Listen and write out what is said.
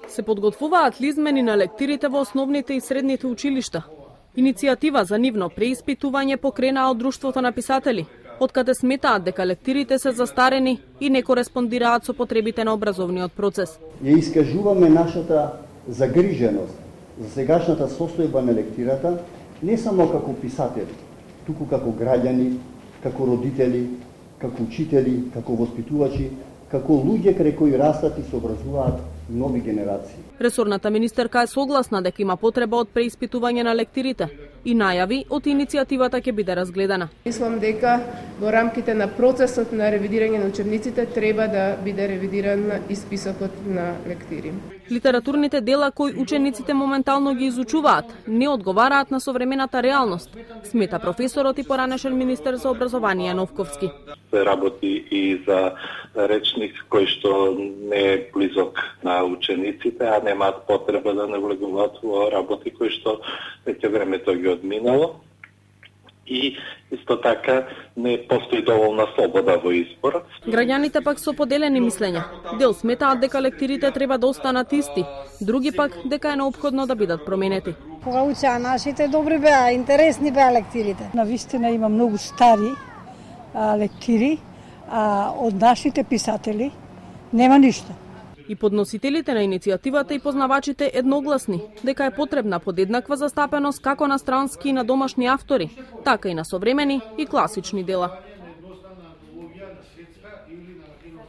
Се подготвуваат ли измени на лектирите во основните и средните училишта? Иницијатива за нивно преиспитување покренаа од Друштвото на писатели, откаде сметаат дека лектирите се застарени и не кореспондираат со потребите на образовниот процес. Ја искажуваме нашата загриженост за сегашната состојба на лектирата, не само како писатели, туку како граѓани, како родители, како учители, како воспитувачи, како луѓе крај кои растат и се образуваат нови генерации. Ресорната министерка е согласна дека има потреба од преиспитување на лектирите и најави од иницијативата ќе биде разгледана. Мислам дека во рамките на процесот на ревидирање на учебниците треба да биде ревидиран и списокот на лектири. Литературните дела кои учениците моментално ги изучуваат не одговараат на современата реалност, смета професорот и поранешен министер за образование Новковски. Се работи и за речник кој што не е близок на учениците, а немаат потреба да навлегуваат во работи кои што веќе времето ги одминало. И исто така не постои доволна слобода во избор. Граѓаните пак со поделени мислења. Дел сметаат дека лектирите треба да останат исти, други пак дека е неопходно да бидат променети. Кога учеа нашите добри беа, интересни беа лектирите. Навистина има многу стари лектири, а од нашите писатели нема ништо. И подносителите на иницијативата и познавачите едногласни дека е потребна подеднаква застапеност како на странски и на домашни автори, така и на современи и класични дела.